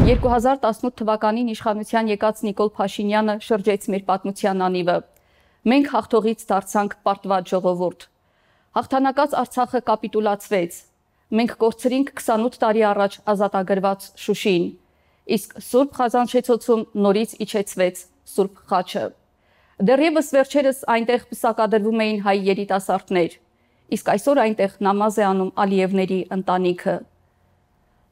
2018 թվականին իշխանության եկած Նիկոլ Փաշինյանը շրջեց մեր պատմության անիվը։ Մենք հաղթողից դարձանք պարտված ժողովուրդ։ Հաղթանակած Արցախը կապիտուլացվեց։ Մենք կորցրինք 28 տարի առաջ ազատագրված Շուշին, իսկ Սուրբ Խազանշեցոցում նորից իջեցվեց Սուրբ խաչը։ Դեռևս վերջերս այնտեղ պսակադրվում էին հայ երիտասարդներ, իսկ այսօր այնտեղ նամազ է անում Ալիևների ընտանիքը։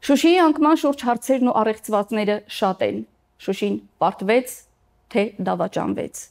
Շուշիի անկման շուրջ հարցերն ու առեղծվածները շատ են։ Շուշին պարտվեց, թե դավաճանվեց։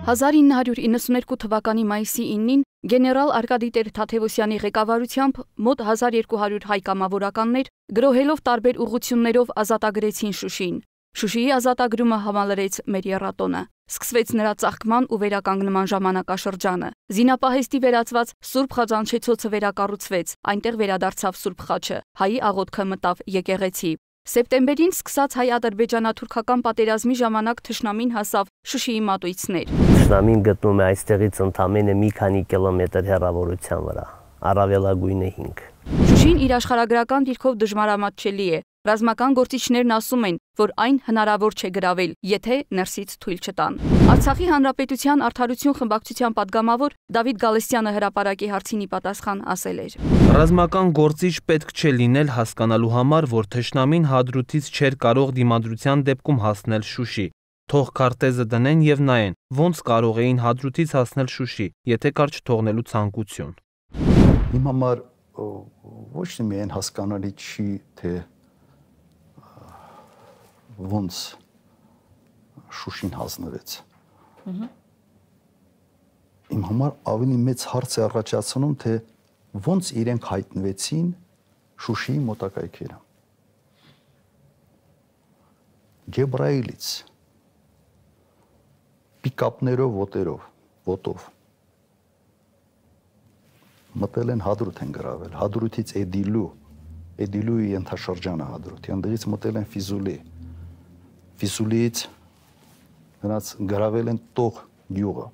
1992 թվականի մայիսի 9-ին գեներալ Արկադի Տեր-Թադևոսյանի ղեկավարությամբ մոտ 1200 հայ կամավորականներ գրոհելով տարբեր ուղղություններով ազատագրեցին Շուշին։ Շուշիի ազատագրումը համալրեց մեր եռատոնը։ Սկսվեց նրա ծաղկման ու վերականգնման ժամանակաշրջանը։ Զինապահեստի վերածված Սուրբ Խազանշեցոցը վերակառուցվեց, այնտեղ վերադարձավ Սուրբ խաչը, հայի աղոթքը մտավ եկեղեցի։ Սեպտեմբերին սկսած հայ-ադրբեջանա-թուրքական պատերազմի ժամանակ թշնամին հասավ Շուշիի մատույցներ։ Թշնամին գտնում է այստեղից ընդամենը մի քանի կիլոմետր հեռավորության վրա, առավելագույնը 5։ Շուշին իր աշխարհագրական դիրքով դժմարամատչելի է։ Ռազմական գործիչներն ասում են, որ այն հնարավոր չէ գրավել, եթե ներսից թույլ չտան։ Արցախի Հանրապետության Արդարություն խմբակցության падգամավոր Դավիթ Գալստյանը հրապարակի հարցին ի պատասխան ասել էր. Ռազմական գործիչ պետք չէ լինել հասկանալու համար, որ թշնամին հադրութից չէր կարող դիմադրության դեպքում հասնել Շուշի։ Թող քարտեզը դնեն եւ նայեն, ոնց կարող էին հադրութից հասնել Շուշի, եթե կար չթողնելու ցանկություն։ Իմ համար ոչ միայն հասկանալի չի, թե ոնց Շուշին հանձնվեց։ Իմ համար ավելի մեծ հարց է առաջացնում, թե ոնց իրենք հայտնվեցին Շուշիի մոտակայքերը։ Ջեբրայիլից, պիկապներով, ոտով մտել են Հադրութ են գրավել, Հադրութից Էդիլուի ենթաշրջանը Հադրութ, այնտեղից մտել են Ֆիզուլի, Ֆիզուլիից նրանց գրավել են Տող գյուղը,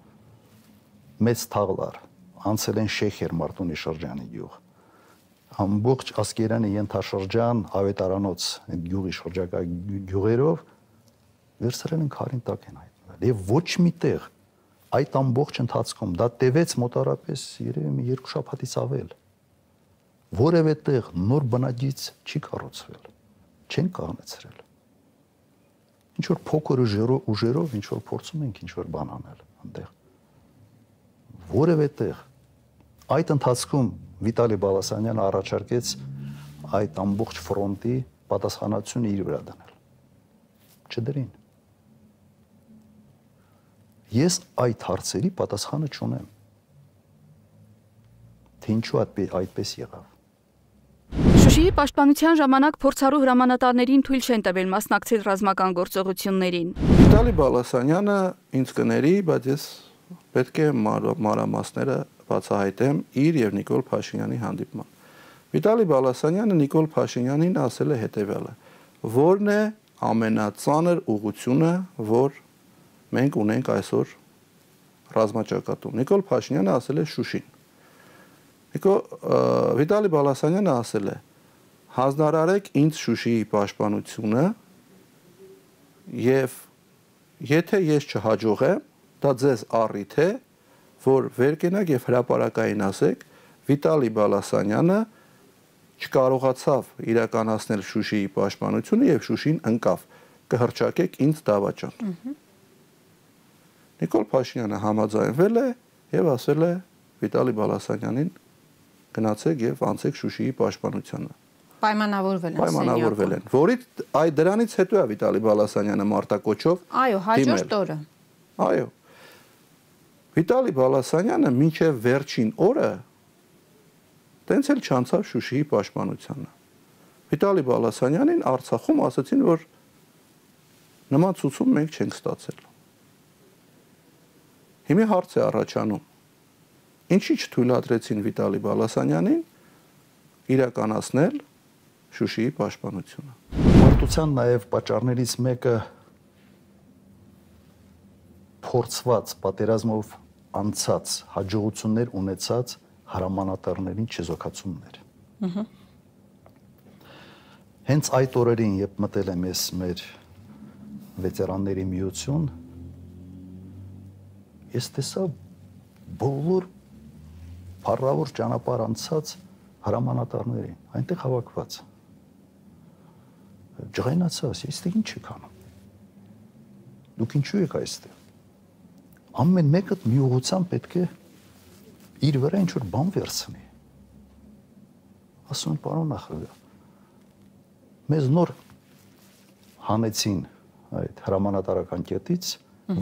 մեծ թաղլար, անցել են Շեխեր Մարտունի շրջանի գյուղ, ամբողջ Ասկերանի ենթաշրջան, Ավետարանոց գյուղի շրջակա գյուղերով վերցրել են քարին տակ են հայտնվել եւ ոչ մի տեղ այդ ամբողջ ընթացքում դա տևեց մոտարապես երևի մի 2 շաբաթից ավել։ Որևէ տեղ նոր բնակիչ չի կառուցվել, չեն կառուցել։ Ինչ որ փոքր ուժերով ինչ որ փորձում ենք ինչ որ բան անել այնտեղ։ Որևէ տեղ այդ ընթացքում Վիտալի Բալասանյանը առաջարկեց այդ ամբողջ ֆրոնտի պատասխանատվությունը իր վրա դնել։ Չդրին։ Ես այդ հարցերի պատասխանը չունեմ։ Թե ինչու այդպես եղավ։ Շուշիի պաշտպանության ժամանակ փորձառու հրամանատարներին թույլ չեն տվել մասնակցել ռազմական գործողություններին։ Վիտալի Բալասանյանը ինձ կների, բայց ես պետք է մանրամասները բացահայտեմ իր եւ Նիկոլ Փաշինյանի հանդիպման։ Վիտալի Բալասանյանը Նիկոլ Փաշինյանին ասել է հետեւյալը. որն է ամենածանր ուղղությունը, որ մենք ունենք այսօր ռազմաճակատում։ Նիկոլ Փաշինյանը ասել է Շուշին։ Վիտալի Բալասանյանը ասել է. հանձնարարեք ինձ Շուշիի պաշտպանությունը եւ եթե ես չհաջողեմ, դա ձեզ առիթ է, որ վեր կենաք եւ հրապարակային ասեք, Վիտալի Բալասանյանը չկարողացավ իրականացնել Շուշիի պաշտպանությունը եւ Շուշին ընկավ, կհրճակեք ինձ դավաճան։ Նիկոլ Փաշինյանը համաձայնվել է եւ ասել է Վիտալի Բալասանյանին գնացեք եւ անցեք Շուշիի պաշտպանությանը։ Պայմանավորվել են։ Որից դրանից հետո է Վիտալի Բալասանյանը մարտակոչով այո, հաջորդ օրը։ Այո։ Վիտալի Բալասանյանը մինչև վերջին օրը տենց էլ չանցավ Շուշիի պաշտպանությանը։ Վիտալի Բալասանյանին Արցախում ասացին, որ նման ցուցում մենք չենք ստացել։ Հիմա հարց է առաջանում. ինչի չթույլատրեցին Վիտալի Բալասանյանին իրականացնել Շուշիի պաշտպանությունը։ Մարտության նաև պատճառներից մեկը փորձված պատերազմով անցած հաջողություններ ունեցած հրամանատարներին չեզոքացումներ։ Հենց այդ օրերին, երբ մտել եմ ես մեր վետերանների միություն, ես տեսա բոլոր փառավոր ճանապարհ անցած հրամանատարներին, այնտեղ հավաքված։ Ջղայնացա, ես դե ինչ եք անում։ Դուք ինչու եք այստեղ։ Ամեն մեկը մի ուղղությամբ պետք է իր վրա ինչ-որ բան վերցնի։ Ասում եմ, պարոն նախագահ, մեզ նոր հանեցին այդ հրամանատարական կետից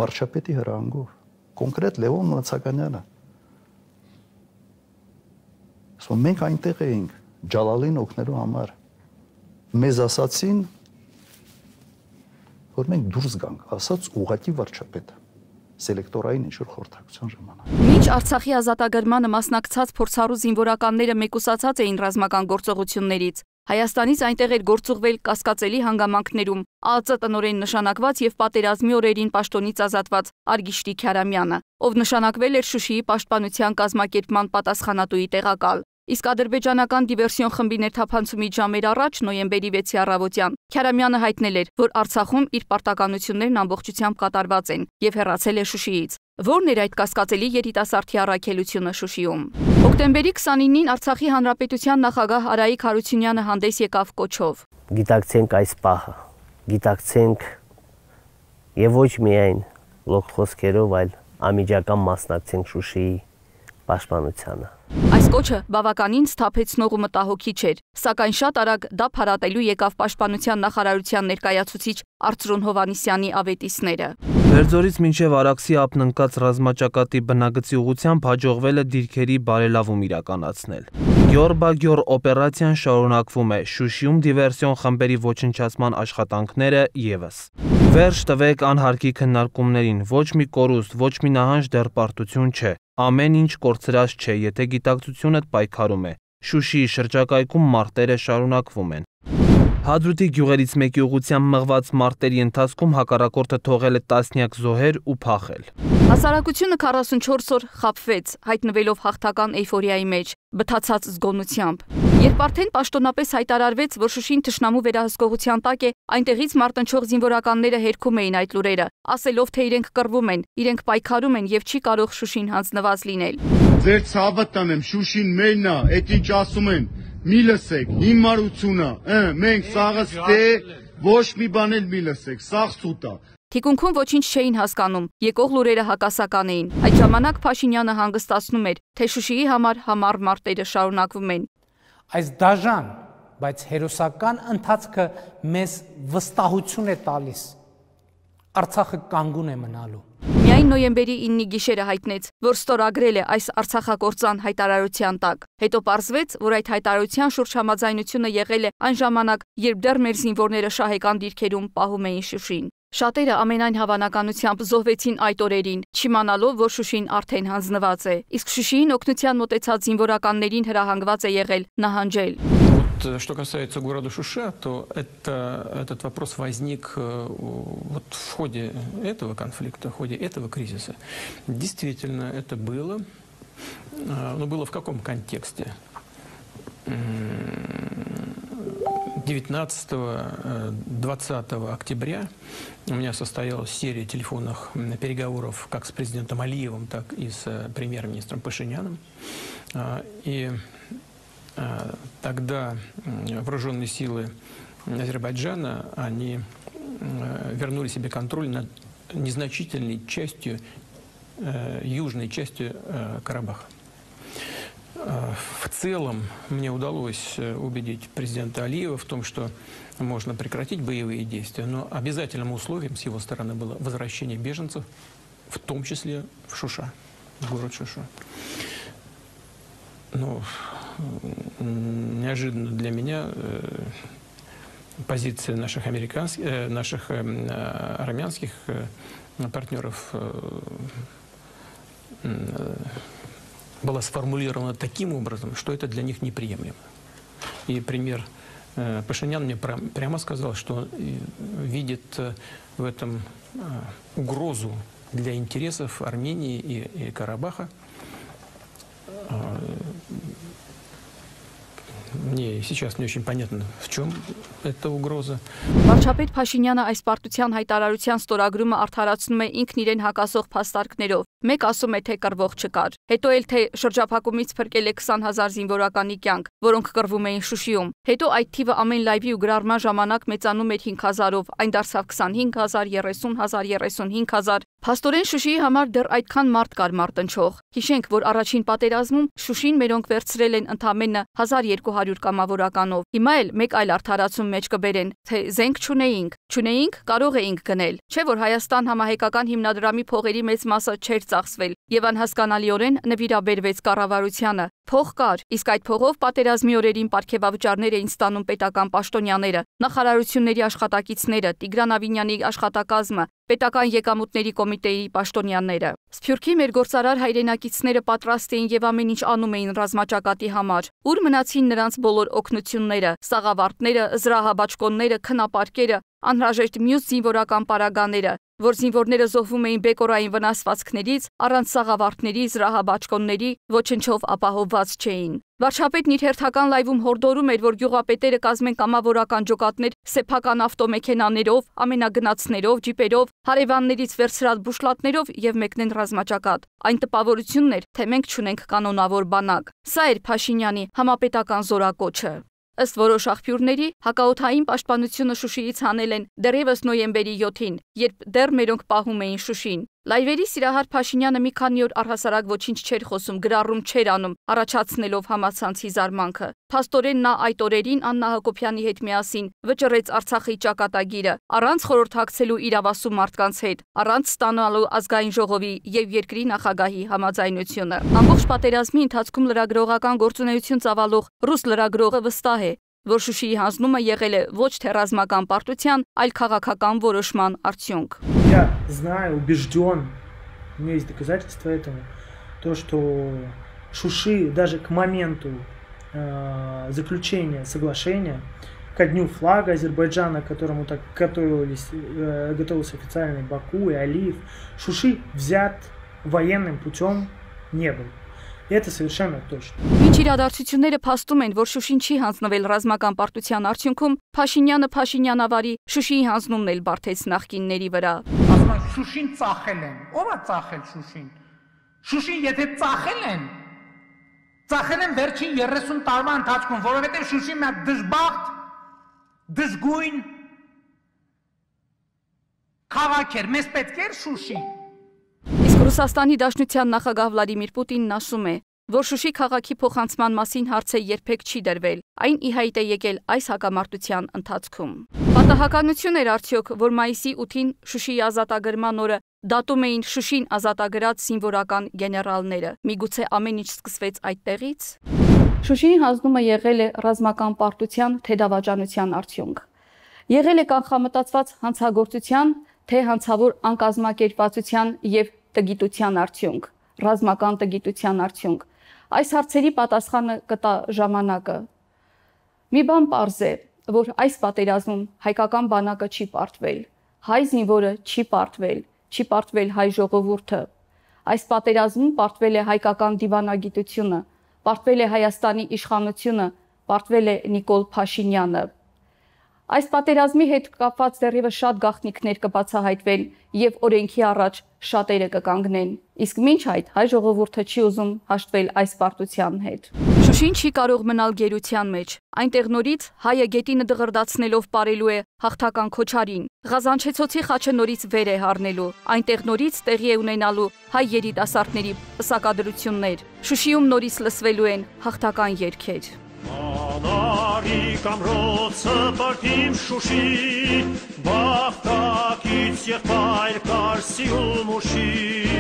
վարչապետի հրահանգով, կոնկրետ Լևոն Մնացականյանը։ Ասում մենք այնտեղ էինք Ջալալին օգնելու համար։ Մեզ ասացին, որ մենք դուրս գանք, ասաց ուղղակի վարչապետը, սելեկտորային ինչ-որ խորհրդակցության ժամանակ։ Մինչ Արցախի ազատագրմանը մասնակցած փորձառու զինվորականները մեկուսացած էին ռազմական գործողություններից, Հայաստանից այնտեղ էր գործուղվել կասկածելի հանգամանքներում ԱԱԾ տնօրեն նշանակված եւ պատերազմի օրերին պաշտոնից ազատված Արգիշտի Քյարամյանը, ով նշանակվել էր Շուշիի պաշտպանության կազմակերպման պատասխանատուի տեղակալ։ Իսկ ադրբեջանական դիվերսիոն խմբի ներթափանցումից ժամեր առաջ նոյեմբերի 6-ի առավոտյան Քյարամյանը հայտնել էր, որ Արցախում իր պարտականություններն ամբողջությամբ կատարված են եւ հեռացել է Շուշիից։ Որն էր այդ կասկածելի երիտասարդի առաքելությունը Շուշիում։ Հոկտեմբերի 29-ին Արցախի Հանրապետության նախագահ Արայիկ Հարությունյանը հանդես եկավ կոչով. Գիտակցենք այս պահը, գիտակցենք եւ ոչ միայն լոկ խոսքերով, այլ անմիջական մասնակցենք Շուշիի պաշտպանությանը։ Այս կոչը բավականին սթափեցնող ու մտահոգիչ էր, սակայն շատ արագ դա փարատելու եկավ պաշտպանության նախարարության ներկայացուցիչ Արծրուն Հովանիսյանի ավետիսները։ Բերձորից մինչև Արաքսի ապնընկած ռազմաճակատի բնագծի ուղղությամբ հաջողվել է դիրքերի բարելավում իրականացնել։ Գյորբագյոր օպերացիան շարունակվում է, Շուշիում դիվերսիոն խմբերի ոչնչացման աշխատանքները ևս։ Վերջ տվեք անհարկի քննարկումներին, ոչ մի կորուստ, ոչ մի նահանջ դեռ պարտություն չէ։ Ամեն ինչ կորցրած չէ, եթե գիտակցությունդ պայքարում է։ Շուշիի շրջակայքում մարտերը շարունակվում են։ Հադրութի գյուղերից մեկի ուղղությամբ մղված մարտերի ընթացքում հակառակորդը թողել է տասնյակ զոհեր ու փախել։ Հասարակությունը 44 օր խաբվեց, հայտնվելով հաղթական էյֆորիայի մեջ, բթացած զգոնությամբ։ Երբ արդեն պաշտոնապես հայտարարվեց, որ Շուշին թշնամու վերահսկողության տակ է, այնտեղից մարտնչող զինվորականները հերքում էին այդ լուրերը, ասելով, թե իրենք կռվում են, իրենք պայքարում են եւ չի կարող Շուշին հանձնված լինել։ Ձեր ցավը տանեմ, Շուշին մերն է, այդ ինչ ասում են, մի լսեք, հիմարությունը, մենք սաղս դե ոչ մի բան էլ մի լսեք, սաղ սուտ է։ Թիկունքում ոչինչ չէին հասկանում, եկող լուրերը հակասական էին։ Այդ ժամանակ Փաշինյանը հանգստացնում էր, թե Շուշիի համար համառ մարտերը շարունակվում են։ Այս դաժան, բայց հերոսական ընթացքը մեզ վստահություն է տալիս։ Արցախը կանգուն է մնալու։ Միայն նոյեմբերի 9-ի գիշերը հայտնեց, որ ստորագրել է այս արցախագործան հայտարարության տակ։ Հետո պարզվեց, որ այդ հայտարարության շուրջ համաձայնությունը եղել է այն ժամանակ, երբ դեռ մեր զինվորները շահեկան դիրքերում պահում էին Շուշին։ Շատերը ամենայն հավանականությամբ զոհվեցին այդ օրերին, չիմանալով, որ Շուշին արդեն հանձնված է, իսկ Շուշիին օգնության մոտեցած զինվորականներին հրահանգված է եղել նահանջել։ Что касается города Шуша, то этот вопрос возник вот в ходе этого конфликта, в ходе этого кризиса. Действительно, это было. Но было в каком контексте? 19-20 октября у меня состоялась серия телефонных переговоров как с президентом Алиевым, так и с премьер-министром Пашиняном. И тогда вооруженные силы Азербайджана, они вернули себе контроль над незначительной частью, южной частью Карабаха. В целом мне удалось убедить президента Алиева в том, что можно прекратить боевые действия, но обязательным условием с его стороны было возвращение беженцев, в том числе в Шуша, в город Шуша. Ну, неожиданно для меня позиция наших армянских партнеров была сформулирована таким образом, что это для них неприемлемо. И премьер Пашинян мне прямо сказал, что видит в этом угрозу для интересов Армении и Карабаха. Мне сейчас не очень понятно, в чем эта угроза. Վարչապետ Փաշինյանը այս պարտության հայտարարության ստորագրումը արդարացնում է ինքն իրեն հակասող փաստարկներով։ Մեկ ասում է, թե կռվող չկար։ Հետո էլ թե շրջափակումից փրկել է 20,000 զինվորականի կյանք, որոնք կռվում էին Շուշիում։ Հետո այդ թիվը ամեն լայվի ու գրառման ժամանակ մեծանում էր 5,000-ով, այն դարձավ 25,000, 30,000, 35,000։ Փաստորեն Շուշիի համար դեռ այդքան մարդ կար մարտնչող։ Հիշենք, որ առաջին պատերազմում Շուշին մերոնք վերցրել են ընդամենը 1200 կամավորականով։ Հիմա էլ մեկ այլ արդարացում մեջ կբերեն, թե զենք չունեինք, կարող էինք գնել։ Չէ՞ որ Հայաստան համահայկական հիմնադրամի փողերի մեծ մասը չէր ծախսվել եւ անհասկանալիորեն նվիրաբերվեց կառավարությանը։ Փող կար, իսկ այդ փողով պատերազմի օրերին պարգևավճարներ էին ստանում պետական պաշտոնյաները, նախարարությունների աշխատակիցները, Տիգրան Ավինյանի աշխատակազմը, պետական եկամուտների կոմիտեի պաշտոնյաները։ Սփյուռքի մեր գործարար հայրենակիցները պատրաստ էին եւ ամեն ինչ անում էին ռազմաճակատի համար։ Ուր մնացին նրանց բոլոր օգնությունները, սաղավարտները, զրահաբաճկոնները, քնապարկերը, անհրաժեշտ մյուս զինվորական պարագաները, որ զինվորները զոհվում էին բեկորային վնասվածքներից, առանց սաղավարտների, զրահաբաճկոնների, ոչնչով ապահովված չէին։ Վարչապետն իր հերթական լայվում հորդորում էր, որ գյուղապետերը կազմեն կամավորական ջոկատներ սեփական ավտոմեքենաներով, ամենագնացներով, ջիպերով, հարևաններից վերցրած բուշլատներով եւ մեկնեն ռազմաճակատ։ Այն տպավորությունն էր, թե մենք չունենք կանոնավոր բանակ։ Սա էր Փաշինյանի համապետական զորակոչը։ Ըստ որոշ աղբյուրների, հակաօդային պաշտպանությունը Շուշիից հանել են դեռևս նոյեմբերի 7-ին, երբ դեռ մերոնք պահում էին Շուշին։ Լայվերի սիրահար Փաշինյանը մի քանի օր առհասարակ ոչինչ չէր խոսում, գրառում չէր անում, առաջացնելով համացանցի զարմանքը։ Փաստորեն նա այդ օրերին Աննա Հակոբյանի հետ միասին վճռեց Արցախի ճակատագիրը, առանց խորհրդակցելու իրավասու մարդկանց հետ, առանց ստանալու ազգային ժողովի եւ երկրի նախագահի համաձայնությունը։ Ամբողջ պատերազմի ընթացքում լրագրողական գործունեություն ծավալող ռուս լրագրողը վստահ է, որ Շուշիի հանձնումը եղել է ոչ թե ռազմական պարտության, այլ քաղաքական որոշման արդյունք։ Я знаю, убежден, у меня есть доказательства этому, то, что Шуши даже к моменту заключения соглашения, ко дню флага Азербайджана, к которому так готовился официальный Баку и Алиев, Шуши взят военным путем не был. Это совершенно точно. Ինչ իրադարձությունները փաստում են, որ Շուշին չի հանձնվել ռազմական պարտության արդյունքում, Փաշինյանը Փաշինյանավարի Շուշիի հանձնումն էլ բարթեց նախկինների վրա։ Ասում են Շուշին ծախել են։ Ո՞վ է ծախել Շուշին։ Շուշին եթե ծախել են վերջին 30 տարվա ընթացքում, որովհետև Շուշին մի դժբախտ, դժգույն քաղաք էր, մեզ պետք էր Շուշի։ Իսկ Ռուսաստանի Դաշնության նախագահ Վլադիմիր Պուտինն ասում է, որ Շուշի քաղաքի փոխանցման մասին հարցը երբեք չի դրվել, այն ի հայտ է եկել այս հակամարտության ընթացքում։ Պատահականություն էր արդյոք, որ մայիսի 8-ին Շուշիի ազատագրման օրը դատում էին Շուշին ազատագրած զինվորական գեներալները։ Միգուցե ամեն ինչ սկսվեց այդտեղից։ Շուշիի հանձնումը եղել է ռազմական պարտության թե դավաճանության արդյունք։ Եղել է կանխամտածված հանցագործության թե հանցավոր անկազմակերպվածության եւ տգիտության արդյունք, ռազմական տգիտության արդյունք։ Այս հարցերի պատասխանը կտա ժամանակը։ Մի բան պարզ է, որ այս պատերազմում հայկական բանակը չի պարտվել, հայ զինվորը չի պարտվել հայ ժողովուրդը։ Այս պատերազմում պարտվել է հայկական դիվանագիտությունը, պարտվել է Հայաստանի իշխանությունը, պարտվել է Նիկոլ Փաշինյանը։ Այս պատերազմի հետ կապված դեռևս շատ գաղտնիքներ կբացահայտվեն եւ օրենքի առաջ շատերը կկանգնեն։ Իսկ մինչ այդ հայ ժողովուրդը չի ուզում հաշտվել այս պարտության հետ։ Շուշին չի կարող մնալ գերության մեջ։ Այնտեղ նորից հայը գետինը դղրդացնելով ապրելու է հաղթական քոչարին։ Ղազանչեցոցի խաչը նորից վեր է հառնելու։ Այնտեղ նորից տեղի է ունենալու հայ երիտասարդների պսակադրություններ։ Շուշիում նորից լսվելու են հաղթական երգեր։ Կամրոցը պարտիմ Շուշի, բաղթակից եղբայր Կարսի ու Մուշի։